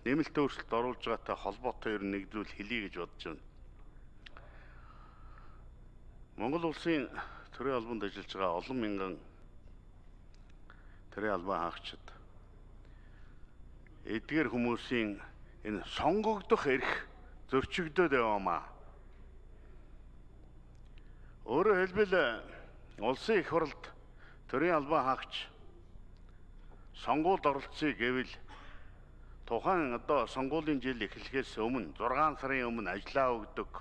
Нэмэлт өөрчлөлт оруулж байгаатай холбоотой ер нь нэг зүйл хэлье гэж бодож байна. Монгол улсын төрийн албанд ажиллаж байгаа олон мянган төрийн албан хаагчид эдгээр хүмүүсийн энэ сонгогдох эрх зөрчигдөд яваамаа. Өөрөөр хэлбэл улсын их хурлд төрийн албан хаагч сонгуульд оролцъё гэвэл тухайн сонгуулийн жил эхлэхээс өмнө 6 сарын өмнө ажиллаа өгдөг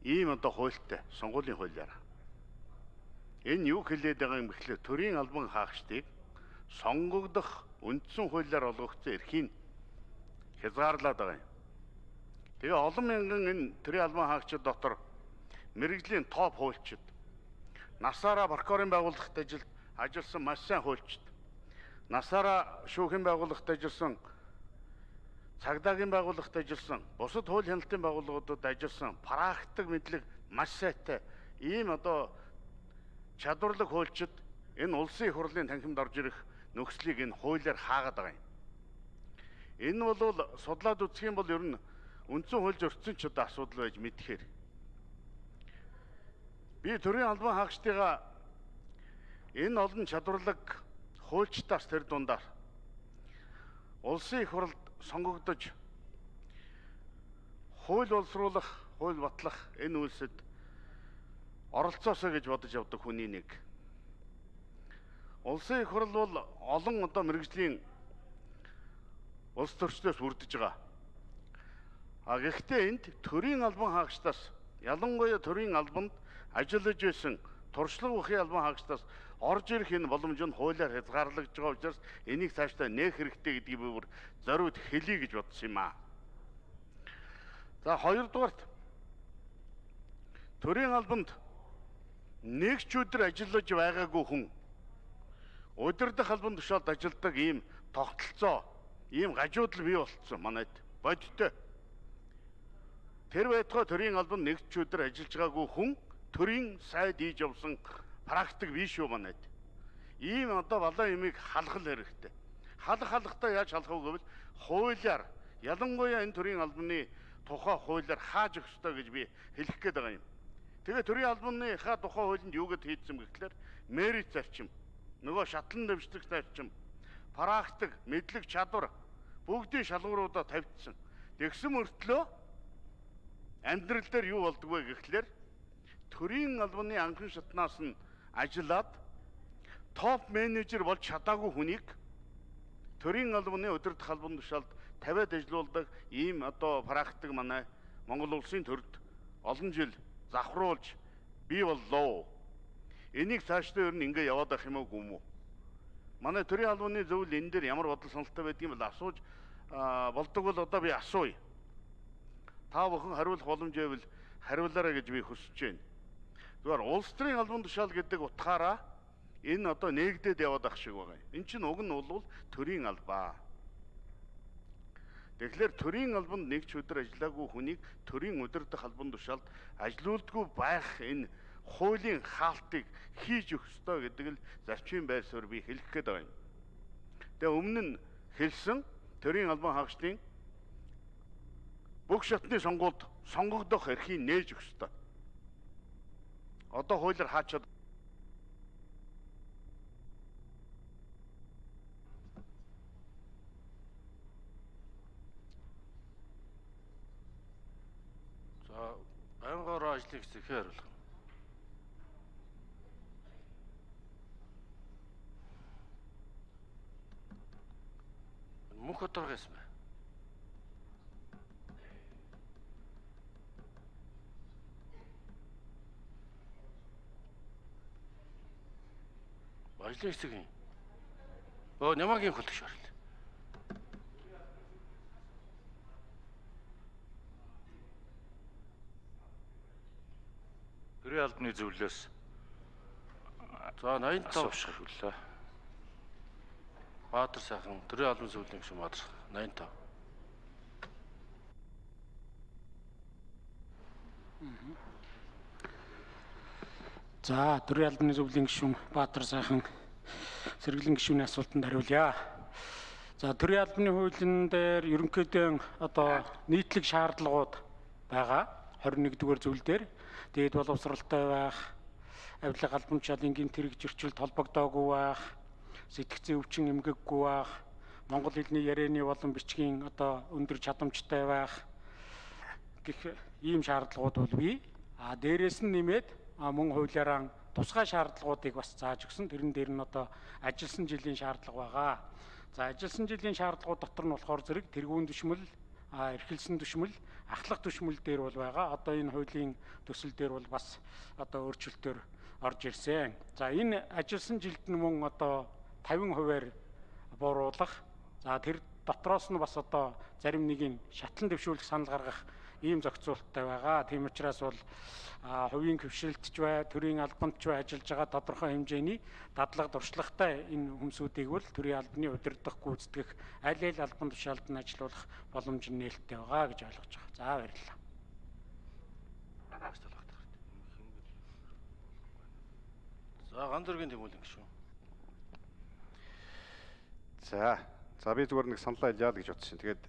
ийм хуультай сонгуулийн хуулиар. Энэ юу хэлээд байгаа юм гэхлээр төрийн албан хаагчдыг сонгогдох үндсэн хуулиар олгогдсон эрхийг хязгаарлаад байгаа юм. Тэгээ олон мянган энэ төрийн албан хаагчид дотор мэргэжлийн топ хуульчид, насаараа прокурорын байгууллагт ажилласан маш сайн хуульчид, насаараа шүүхийн байгууллагт ажилласан, цагдаагийн байгууллагт ажилласан, бусад хууль хяналтын байгууллагуудад ажилласан, практик мэдлэг маш сайтай ийм чадварлаг хуульчид энэ улсын их хурлын танхимд орж ирэх нөхцөлийг энэ хуулиар хаагаад байгаа юм. Энэ бол судлаад үзэх юм бол ер нь үндсэн хууль зөрчсөн асуудал байж мэдхээр. Би төрийн албан хаагчдыгаа энэ олон чадварлаг хуульчдаас тэр дундаар улсын их хурлд сонгогдож хууль боловсруулах, хууль батлах энэ үйлсэд оролцоосоо гэж бодож явдаг хүний нэг. Улсын их хурл бол олон мэргэжлийн улс төрчлөөс бүрдэж байгаа. Гэхдээ энд төрийн албан хаагчдаас ялангуяа төрийн албанд ажиллаж байсан туршлага бүхий албан хаагчдаас орж ирэх энэ боломж нь хуулиар хязгаарлагдж байгаа учраас энийг цаашдаа нээх хэрэгтэй гэдгийг би бүр зориуд хэлье гэж бодсон юм аа. За хоёрдугаарт төрийн албанд нэг ч өдөр ажиллаж байгаагүй хүн удирдах албан тушаалд ажилладаг ийм тогтолцоо, ийм гажуудал бий болцсон манайд бодтой. Тэр байтугай төрийн албанд нэг ч өдөр ажиллаж байгаагүй хүн төрийн сайд хийж явсан практик биш шүү манайд. Ийм балан юмыг халах хэрэгтэй. Халахдаа яаж халах вэ гэвэл хуулиар, ялангуяа энэ төрийн албаны тухай хуулиар хааж өгөх ёстой гэж би хэлэх гээд байгаа юм. Тэгээ төрийн албаныхаа тухай хуулинд юу гэд хийдсэн гэхлээр мерит зарчим, нөгөө шатлан дэвшлэх зарчим, практик, мэдлэг, чадвар бүгдийн шалгууруудаа тавьчихсан. Тэгсэн мөртлөө амьдрал дээр юу болдог вэ гэхлээр төрийн албаны анхан шатнаас нь ажиллаад топ менежер болж чадаагүй хүнийг төрийн албаны удирдах албан тушаалд тавиад ажиллаулдаг ийм практик манай Монгол улсын төрд олон жил завхруулж бий боллоо. Энийг цаашдаа ер нь ингэ яваад байх юм уу гүм үү? Манай төрийн албаны зөвлөл энэ дээр ямар бодол сонголттой байдгийг бол асууж болдог бол би асууя. Та бүхэн хариулах боломж байвал хариулаарай гэж би хүсэж байна. Зүгээр улс төрийн албан тушаал гэдэг утгаараа энэ нээгдээд яваад ах шиг байгаа. Энэ чинь уг нь бол төрийн албаа. Тэгэхээр төрийн албанд нэг ч өдөр ажиллаагүй хүнийг төрийн удирдах албан тушаалд ажилуулдаггүй байх энэ хуулийн хаалтыг хийж өгөх ёстой гэдэг л зарчмын байр суурь би хэлэх гээд байгаа юм. Тэгээ өмнө нь хэлсэн төрийн албан хаагчдын бүх шатны сонгуульд сонгогдох эрхийг нээж өгөх ёстой. Хуулиар хаачаад байнгын ажлыг зэхээр хариулах. Мөнх оторгоос мэ. Ажлын хэсэг юм. Нямаагийн хөтлөгч орол. Төрийн албаны зөвлөлөөс 85 шиг хүлээ. Баатар сайхан төрийн албан зөвлөлийн гишүүн Баатар 85. За төрийн албаны зөвлөлийн гишүүн Баатар сайхан сэргэлэн гишүүний асуултанд хариулъя. За төрийн албаны хуулийн дээр ерөнхийдөө одоо нийтлэг шаардлагууд байгаа 21-р зүйл дээр дээд боловсралтай байх, авилга албамчаал энгийн тэрэг зөрчилд холбогдоогүй байх, сэтгцийн өвчин эмгэггүй байх, монгол хэлний ярианы болон бичгийн одоо өндөр чадамжтай байх гэх ийм шаардлагууд бол бий. Дээрээс нь нэмээд мөн хуулиараа тусгай шаардлагуудыг бас зааж өгсөн. Тэрэн дээр нь одоо ажилласан жилийн шаардлага байгаа. За ажилласан жилийн шаардлагууд дотор нь болохоор зэрэг тэргүүн түшмэл, эрхэлсэн түшмэл, ахлах түшмэл дээр бол байгаа. Одоо энэ хуулийн төсөл дээр бол бас одоо өөрчлөлтөөр орж ирсэн. За энэ ажилласан жилд нь мөн одоо 50%-аар бууруулах. За тэр дотроос нь бас одоо зарим нэгin шатлан дэвшүүлэх санал гаргах ийм зохицуулттай байгаа. Тийм учраас бол хувийн хөвшилтч бай, төрийн албандч бай ажиллаж байгаа тодорхой хэмжээний дадлага дуршлагатай энэ хүмүүсүүдийг бол төрийн албаны удирдах, гүйцэтгэх, аль аль албан тушаалд нь ажиллах боломж нь нээлттэй байгаа гэж ойлгож байгаа. За баярлалаа. За Гандүргийн тэмүүлэн гişүү. За би зүгээр нэг саналаа хэлье л гэж бодсон. Тэгээд